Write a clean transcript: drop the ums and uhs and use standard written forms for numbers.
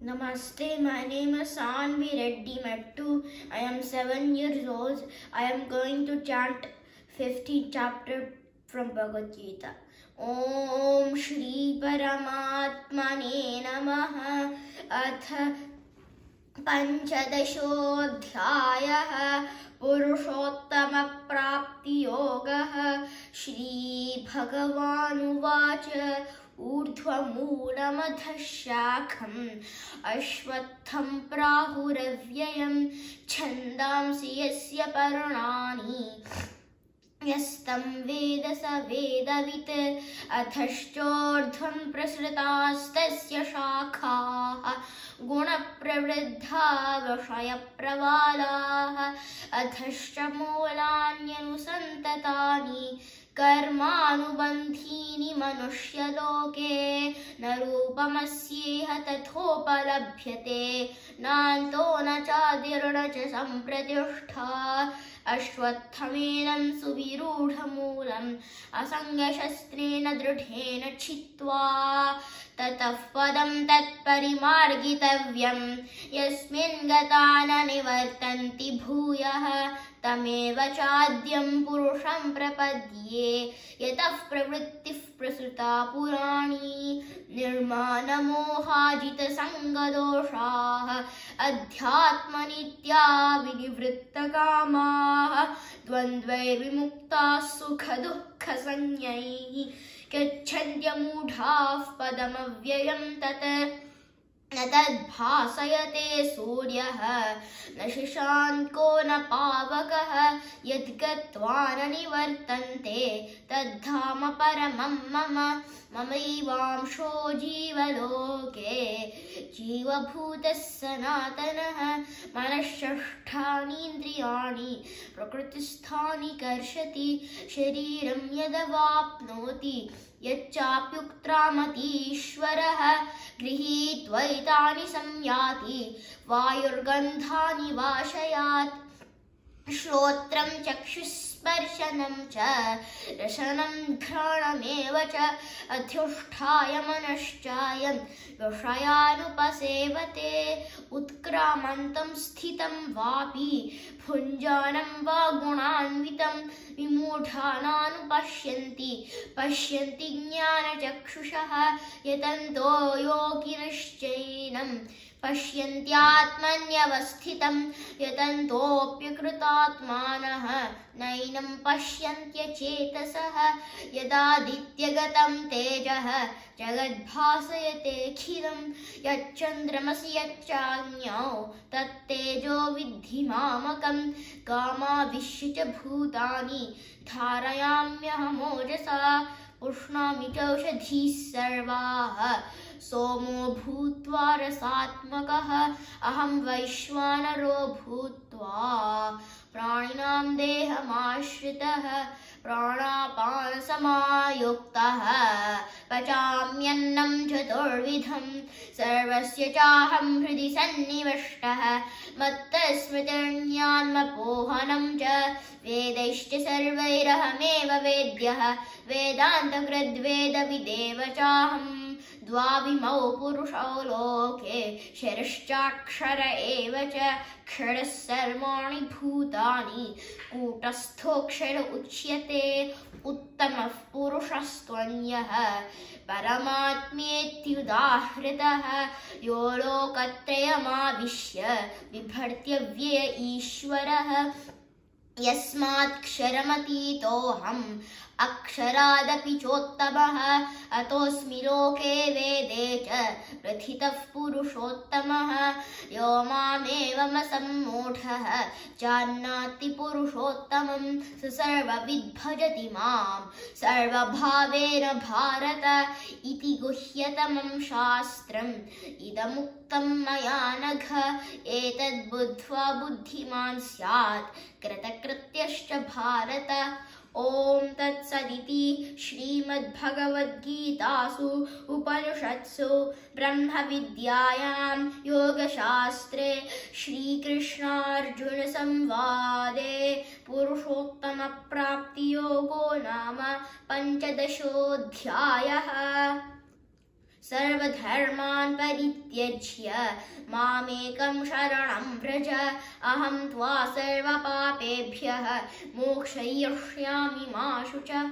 Namaste, my name is Sanvi Reddy Mettu. I am 7 years old. I am going to chant 15th chapter from Bhagavad Gita. Om Shri Paramatmane Namaha Atha Panchadashodhyayah Purushottama Prapti Yogah Shri Bhagavan Uvacha ऊर्ध्वमूलमधः शाखम् अश्वत्थं प्राहुरव्ययं छन्दांसि यस्य पर्णानि यस्तं वेद स वेदवित् अधश्चोर्ध्वं प्रसृतास्तस्य शाखाः गुणप्रवृद्धा विषयप्रवालाः अधश्च मूलान्यनुसन्ततानि कर्मानुबन्धीनि मनुष्यलोके न रूपमस्येह तथोपलभ्यते नान्तो न चादिर्न च सम्प्रतिष्ठा अश्वत्थमेनं सुविरूढमूलम् असङ्गशस्त्रेण दृढेन छित्त्वा ततः पदं तत्परिमार्गितव्यं यस्मिन् गता न निवर्तन्ति भूयः तमेव चाद्यं पुरुषं प्रपद्ये यतः प्रवृत्तिः प्रसृता पुराणी निर्मानमोहाजितसङ्गदोषाः अध्यात्मनित्या विनिवृत्तकामाः द्वन्द्वैर्विमुक्ताः सुखदुःखसंज्ञैः गच्छन्त्यमूढाः पदमव्ययं तत् न तद्भासयते सूर्यः न शशाङ्को न पावकः यद्गत्वा न निवर्तन्ते तद्धाम परमं मम ममैवांशो जीवलोके जीवभूतः सनातनः मनःषष्ठानीन्द्रियाणि प्रकृतिस्थानि कर्षति शरीरं यदवाप्नोति यच्चाप्युक्त्रामतीश्वरः गृहीत्वैतानि संयाति वायुर्गन्धानि वाशयात् श्रोत्रं चक्षुस्पर्शनं च रसनं घ्राणमेव च अधिष्ठाय मनश्चायं विषयानुपसेवते उत्क्रामन्तं स्थितं वापि भुञ्जानं वा गुणान्वितं विमूढानानुपश्यन्ति पश्यन्ति ज्ञानचक्षुषः यतन्तो योगिनश्चैनं पश्यन्त्यात्मन्यवस्थितं यतन्तोऽप्यकृतात्मानः नैनं पश्यन्त्यचेतसः यदादित्यगतं तेजः जगद्भासयतेऽखिलं यच्चन्द्रमसि यच्चाग्न्यौ तत्तेजो विद्धि मामकं गामाविश्य च भूतानि धारयाम्यहमोजसा पुष्णामि चौषधीः सर्वाः सोमो भूत्वा रसात्मकः अहं वैश्वानरो भूत्वा प्राणिनां देहमाश्रितः प्राणापानसमायुक्तः पचाम्यन्नं चतुर्विधं सर्वस्य चाहं हृदि सन्निविष्टः मत्तस्मृतिर्ज्ञानमपोहनं च वेदैश्च सर्वैरहमेव वेद्यः वेदान्तकृद्वेदविदेव चाहं द्वाविमौ पुरुषौ लोके क्षरश्चाक्षर एव च क्षरः सर्वाणि भूतानि कूटस्थोऽक्षर उच्यते उत्तमः पुरुषस्त्वन्यः परमात्मेत्युदाहृतः यो लोकत्रयमाविश्य बिभर्त्यव्यय ईश्वरः यस्मात्क्षरमतीतोऽहम् अक्षरादपि चोत्तमः अतोऽस्मि लोके वेदे च प्रथितः पुरुषोत्तमः यो मामेवमसम्मूढः जानाति पुरुषोत्तमं स सर्वविद् भजति मां सर्वभावेन भारत इति गुह्यतमं शास्त्रम् इदमुक्तं मया नघ एतद्बुद्ध्वा बुद्धिमान् स्यात् कृतकृत्यश्च भारत ओम तत्सदिति श्रीमद्भगवद्गीतासु उपनिषत्सु ब्रह्मविद्यायां योगशास्त्रे श्रीकृष्णार्जुन संवादे पुरुषोत्तमप्राप्तियोगो नाम 15 अध्यायः। सर्वधर्मान् परित्यज्य मामेकं शरणं व्रज अहं त्वा सर्वपापेभ्यः मोक्षयिष्यामि मा शुचः।